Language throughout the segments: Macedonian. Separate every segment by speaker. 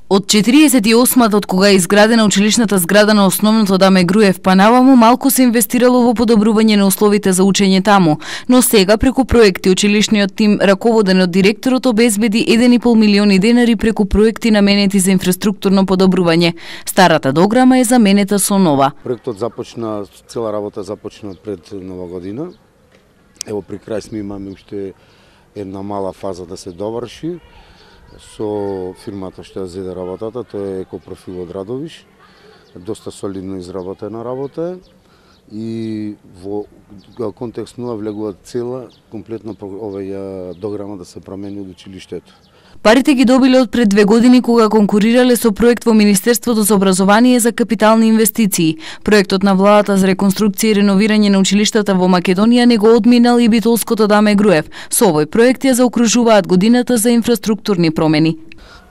Speaker 1: Од 48-та од кога е изградена училишната зграда на основното Даме Груев па наваму малку се инвестирало во подобрување на условите за учење таму, но сега преку проекти училишниот тим раководен од директорот обезбеди 1,5 милиони денари преку проекти наменети за инфраструктурно подобрување. Старата дограма е заменета со нова.
Speaker 2: Проектот започна, цела работа започна пред Нова година. Ево при крај сме имаме уште една мала фаза да се доврши. Со фирмата што ја зеде работата, тоа е Екопрофил од Радовиш. Доста солидно изработена работа и во контекст нова влегува цела комплетно оваја дограма да се промени од училиштето.
Speaker 1: Парите ги добиле од пред 2 години кога конкурирале со проект во Министерството за образование за капитални инвестиции. Проектот на владата за реконструкција и реновирање на училиштата во Македонија не го одминал и битолското Даме Груев. Со овој проект ја заокружуваат годината за инфраструктурни промени.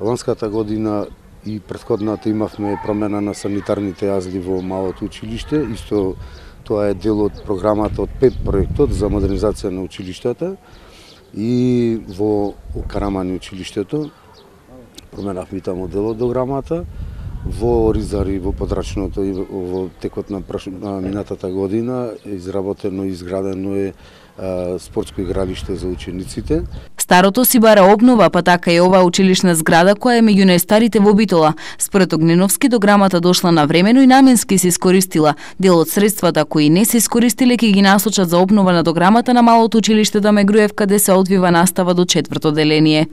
Speaker 2: Ланската година и претходната имавме промена на санитарните јазди во малото училиште. Исто тоа е дел од програмата од ПЕП проектот за модернизација на училиштата. И во Карамани училиштето променавме таму дел од дограмата, во Оризари, во Подрачното и во текот на минатата година изработено и изградено е спортско игралиште за учениците.
Speaker 1: Старото си бара обнова, па така и оваа училишна зграда која е меѓу најстарите во Битола. Според Огненовски дограмата дошла навремено и наменски се искористила. Дел од средствата кои не се искористиле ќе ги насочат за обнова на дограмата на малото училиште Даме Груев, каде се одвива настава до 4-то деление.